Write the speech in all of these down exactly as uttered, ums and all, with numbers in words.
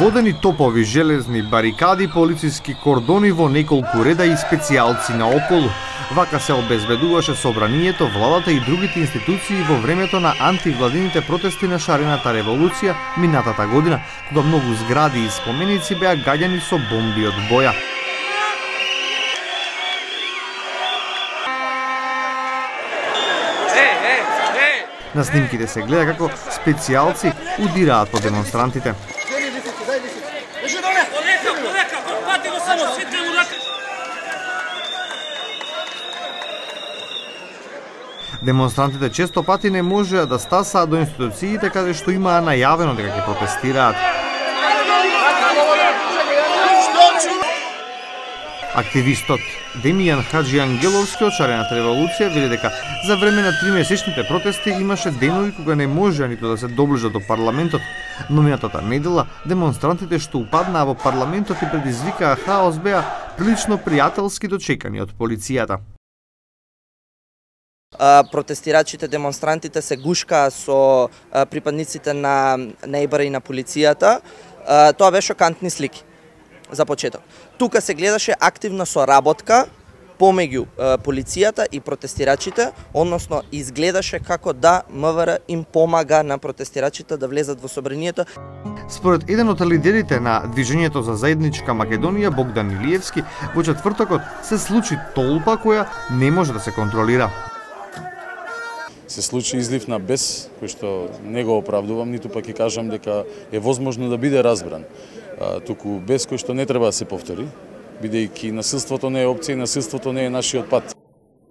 Водени топови, железни барикади, полициски кордони во неколку реда и специјалци наоколу. Вака се обезбедуваше собранието, владата и другите институции во времето на антивладините протести на шарената револуција минатата година, кога многу згради и споменици беа гаѓани со бомби од боја. На снимките се гледа како специјалци удираат по демонстрантите. Демонстрантите често пати не можеа да стасаат до институциите каде што имаа најавено дека ќе протестираат. Активистот Демијан Хаджиангеловски од шарената револуција вели дека за време на тримесечните протести имаше денови кога не можеа ниту да се доближат до парламентот, но минатата недела демонстрантите што упаднаа во парламентот и предизвикаа хаос беа прилично пријателски дочекани од полицијата. Протестирачите, демонстрантите се гушкаа со припадниците на нејбара и на полицијата. Тоа беше шокантни слики за почеток. Тука се гледаше активна соработка помеѓу полицијата и протестирачите, односно изгледаше како да МВР им помага на протестирачите да влезат во собранието. Според еден од лидерите на Движењето за заедничка Македонија, Богдан Илиевски, во четвртокот се случи толпа која не може да се контролира. Се случи излив на бес, кој што не го оправдувам, ниту пак ќе кажам дека е возможно да биде разбран. А, туку бес кој што не треба да се повтори, бидејќи насилството не е опција и насилството не е нашиот пат.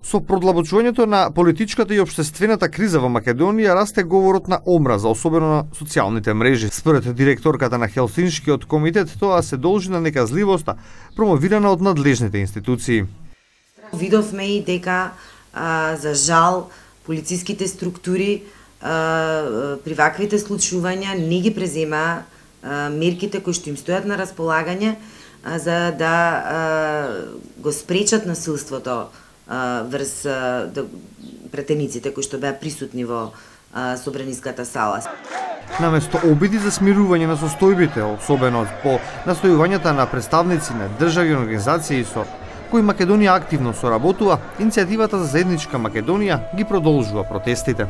Со продлабочувањето на политичката и општествената криза во Македонија расте говорот на омраза, особено на социјалните мрежи. Според директорката на Хелсиншкиот комитет, тоа се должи на неказливоста промовирана од надлежните институции. Видовме и дека а, за жал полициските структури а, при ваквите случувања не ги презема а, мерките кои што им стојат на располагање а, за да а, го спречат насилството а, врз а, да, претениците кои што беа присутни во а, собраниската сала. Наместо обиди за смирување на состојбите, особено по настојувањата на представници на држави и организации со кои Македонија активно соработува, иницијативата за заедничка Македонија ги продолжува протестите.